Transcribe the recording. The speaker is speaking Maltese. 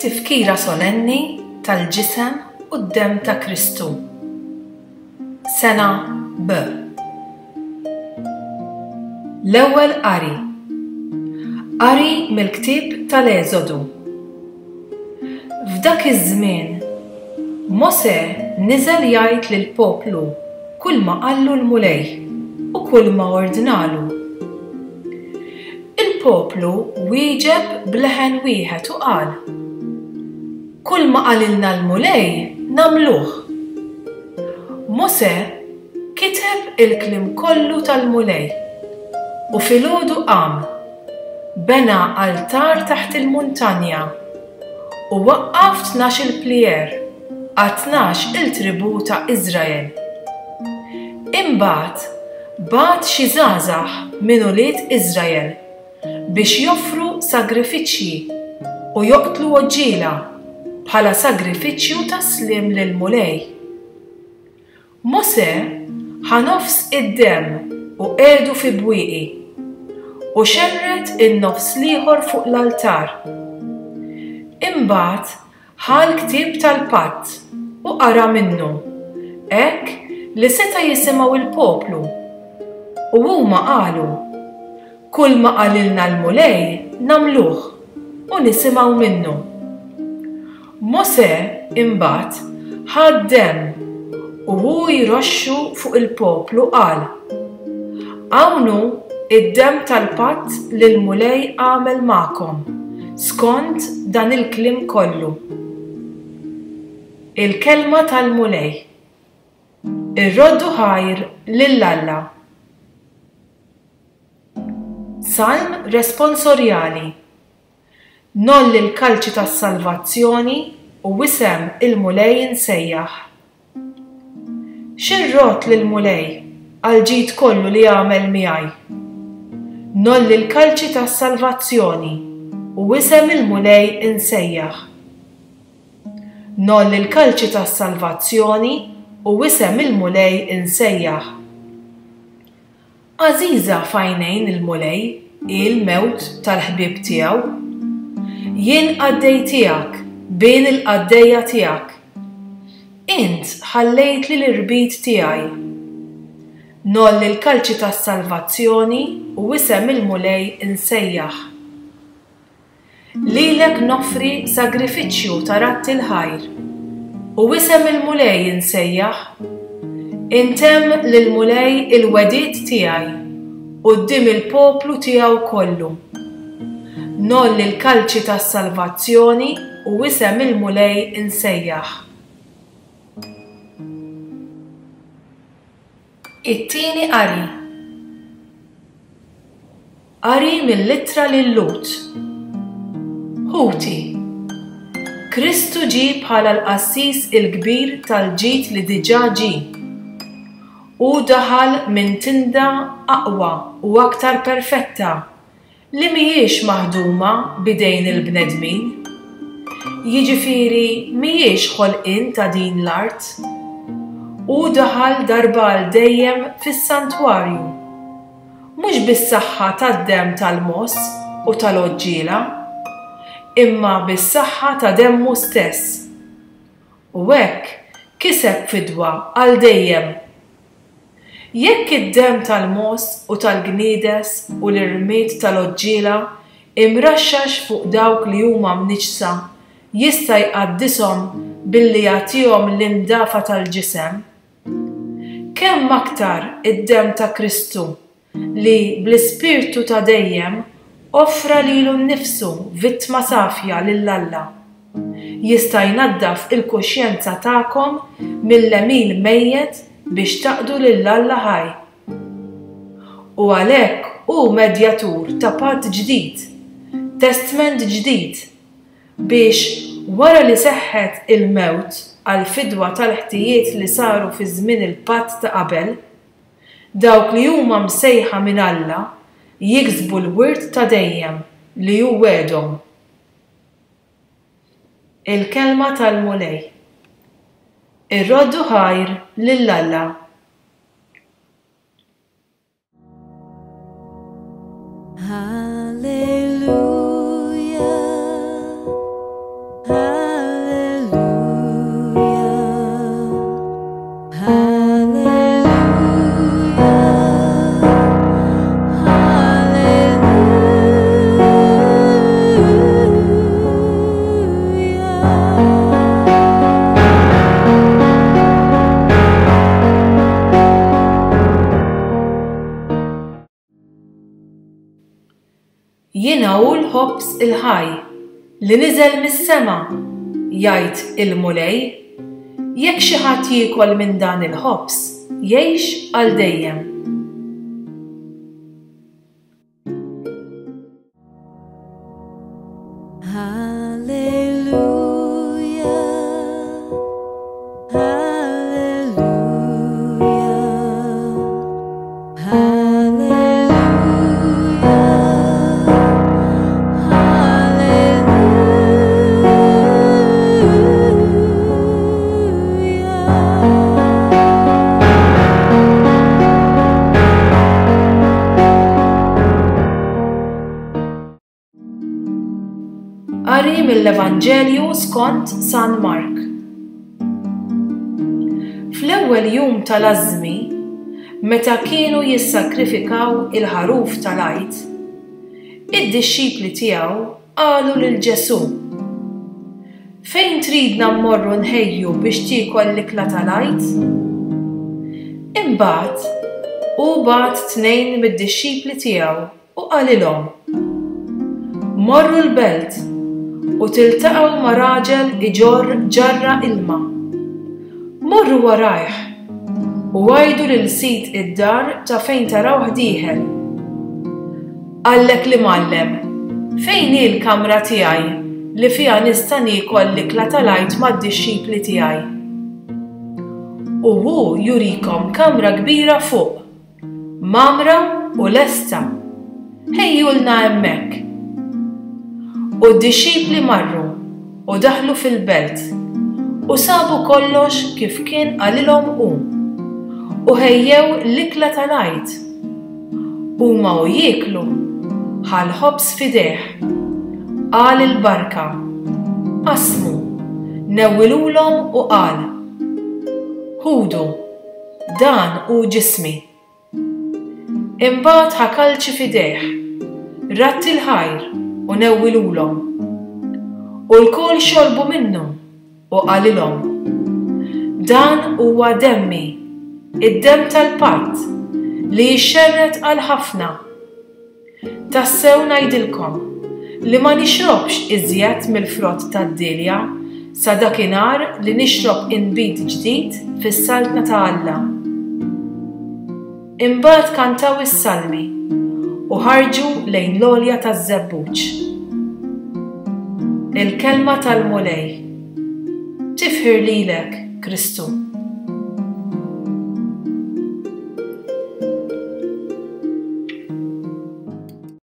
It-tifkira solenni tal-Ġisem u d-Demm ta' Kristu. Sena B. L-Ewwel Qari. Qari mill-Ktieb tal-Eżodu. F'dak iż-żmien, Mosè niżel jgħid lill-poplu kulma qallu l-Mulej u kulma ordnalu. Il-poplu wieġeb b'leħen wieħed u qal, Kulma qalilna l-Mulej nagħmluh. Mosè kiteb il-kliem kollu tal-Mulej, u filgħodu qam, bena altar taħt il-muntanja, u waqqaf 12-il plier għat-tnax il tribù ta' Iżrael. Imbagħad bagħat xi żgħażagħ minn ulied Iżrael biex joffru sagrifiċċji u joqtlu għoġġiela bħala sagrifiċċju ta' sliem lill-Mulej. Mosè ħa nofs id-demm u qiegħdu fi bwieqi, u xerred in-nofs l-ieħor fuq l-altar. Imbagħad ħa l-ktieb tal-patt u qara minnu, hekk li seta' jisimgħu l-poplu. U huma qalu, Kulma qalilna l-Mulej nagħmluh u nisimgħu minnu. Mosè, imbagħad, ħa d-demm u hu jroxxu fuq il-poplu qal, Hawn hu d-demm tal-patt li l-Mulej għamel magħkom, skont dan il-kliem kollu. Il-Kelma tal-Mulej. Irroddu ħajr lil Alla. Salm responsorjali. Ngħolli l-kalċi tas-salvazzjoni u isem il-Mulej insejjaħ. Xi rrodd lill-Mulej għall-ġid kollu li għamel miegħi? Ngħolli l-kalċi tas-salvazzjoni u isem il-Mulej insejjaħ. Ngħolli l-kalċi tas-salvazzjoni u isem il-Mulej insejjaħ. Għażiża f'għajnejn il-Mulej hi l-mewt tal-ħbieb tiegħu. Jien qaddej tiegħek, bin il-qaddejja tiegħek. Int ħallejtli l-irbit tiegħi. Ngħolli l-kalċi tas-salvazzjoni u isem il-Mulej insejjaħ. Lilek noffri sagrifiċċju ta' radd il-ħajr, u isem il-Mulej insejjaħ. Intemm lill-Mulej il-wegħdiet tiegħi quddiem il-poplu tiegħu kollu. Ngħolli l-kalċi tas-salvazzjoni u isem il-Mulej insejjaħ. It-tieni qari. Qari mill-Ittra lil-Lhud. Ħuti, Kristu ġie bħala l-Qassis il-Kbir tal-ġid li diġà ġie. Hu daħal minn tinda aqwa u aktar perfetta li mhijiex maħduma b'idejn il-bnedmin, jiġifieri mhijiex ħolqien ta' din l-art. Hu daħal darba għal dejjem fis-santwarju, mhux bis-saħħa tad-demm tal-mogħoż u tal-għoġġiela, imma bis-saħħa ta' demmu stess. U hekk kiseb fidwa għal dejjem. Jekk id-demm tal-mogħoż u tal-gniedes u l-irmied tal-għoġġiela imraxxax fuq dawk li huma mniġġsa jista' jqaddishom billi jagħtihom l-indafa tal-ġisem, kemm aktar id-demm ta' Kristu li bl-Ispirtu ta' dejjem offra lilu nnifsu vittma safja lil Alla, jista' jnaddaf il-kuxjenza tagħkom mill-għemil mejjet biex taqdu lil Alla ħaj. U għalhekk hu medjatur ta' patt ġdid, testment ġdid, biex, wara li seħħet il-mewt għall-fidwa tal-ħtijiet li saru fi żmien il-patt ta' qabel, Dawk li huma msejħa minn Alla jiksbu l-wirt ta' dejjem li hu wegħedhom. Il-Kelma tal-Mulej. Irroddu ħajr lil Alla. Hallelujah. Jiena hu l-ħobż il-ħaj li niżel mis-sema, jgħid il-Mulej, jekk xi ħadd jiekol minn dan il-ħobż, jgħix għal dejjem. Qari mill-Evanġelju skont San Mark. Fl-ewwel jum tal-ażżmi, meta kienu jissagrifikaw il-ħaruf tal-Għid, id-dixxipli tiegħu qalu lil Ġesù, Fejn tridna mmorru nħejju biex tiekol l-ikla tal-Għid? Imbagħad, hu bagħat tnejn mid-dixxipli tiegħu u qalilhom, Morru l-belt u tiltaqgħu ma' raġel iġorr ġarra ilma. Morru warajh u għidu lil sid id-dar ta' fejn tarawh dieħel. Qallek l-Imgħallem, 'Fejn hi l-kamra tiegħi li fiha nista' niekol l-ikla tal-Għid mad-dixxipli tiegħi? U hu jurikom kamra kbira fuq, mgħammra u lesta. Ħejjulna hemmhekk. U d-dixxipli marru u daħlu fil-belt, u sabu kollox kif kien qalilhom hu, u ħejjew l-ikla tal-Għid. Huma u jieklu, ħa l-ħobż f'idejh, qal il-barka, qasmu, newwilulhom u qal, Ħudu, dan hu ġismi. Imbagħad ħa kalċi f'idejh, radd il-ħajr u newwilulhom. U lkoll xorbu minnu u qalilhom, Dan huwa demmi, id-demm tal-patt, li jixxerred għal ħafna. Tassew ngħidilkom, li ma nixrobx iżjed mill-frott tad-dielja sa dakinhar li nixrob inbid ġdid fis-Saltna ta' Alla. Imbagħad kantaw is-salmi u ħarġu lejn l-għolja taż-Żebbuġ. Il-Kelma tal-Mulej. Tifħir lilek, Kristu.